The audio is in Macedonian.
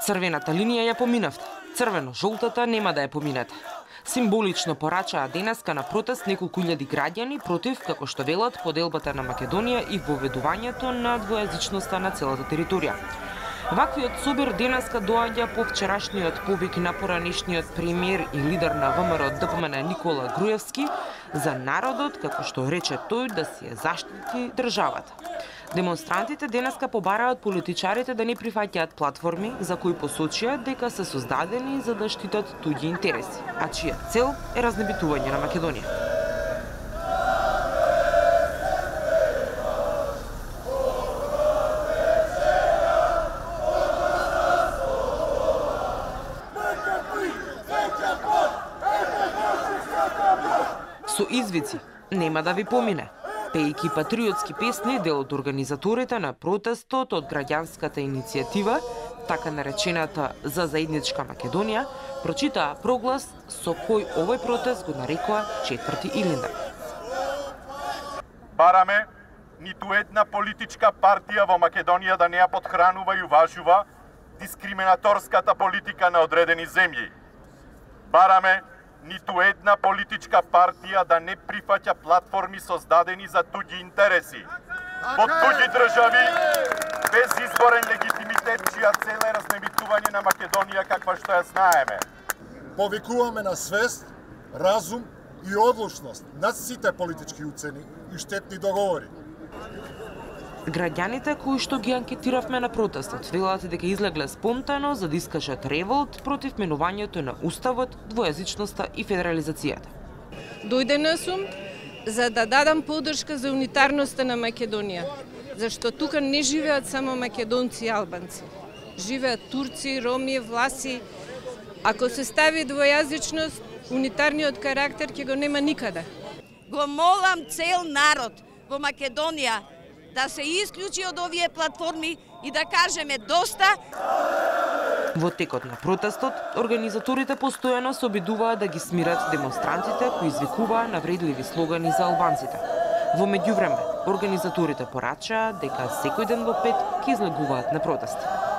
Црвената линија ја поминавте, црвено-жолтата нема да ја поминете. Символично порачаа денеска на протест неколку илјади граѓани против, како што велат, поделбата на Македонија и воведувањето на двојазичноста на целата територија. Ваквиот собир денеска доаѓа по вчерашниот повик на поранешниот премиер и лидер на ВМРО ДПМН Никола Груевски за народот, како што рече тој, да си ја заштити државата. Демонстрантите денеска побараат политичарите да не прифаќаат платформи за кои посочија дека се создадени за да штитат туѓи интереси, а чија цел е разнебитување на Македонија. Со извици нема да ви помине. Пејки патриотски песни, дел од организаторите на протестот од граѓанската иницијатива, така наречената За заедничка Македонија, прочитаа проглас со кој овој протест го нарекоа 4. Илинден. Бараме ниту една политичка партија во Македонија да не ја подхранува и уважува дискриминаторската политика на одредени земји. Бараме ниту една политичка партија да не прифаќа платформи создадени за туѓи интереси, во туѓи држави, без изборен легитимитет, чија цел е разнебитување на Македонија каква што ја знаеме. Повикуваме на свест, разум и одлучност над сите политички уцени и штетни договори. Граѓаните кои што ги анкетиравме на протестот велат дека излегле спонтано за да искажат револт против менувањето на уставот, двојазичноста и федерализацијата. Дојдена сум за да дадам поддршка за унитарноста на Македонија, зашто тука не живеат само македонци и албанци. Живеат турци, роми, власи. Ако се стави двојазичност, унитарниот карактер ќе го нема никаде. Го молам цел народ во Македонија да се исклучи од овие платформи и да кажеме доста. Во текот на протестот, организаторите постојано се обидуваат да ги смират демонстрантите кои извикуваа навредливи слогани за албанците. Во меѓувреме, организаторите порачаа дека секој ден во 5 ќе излегуваат на протести.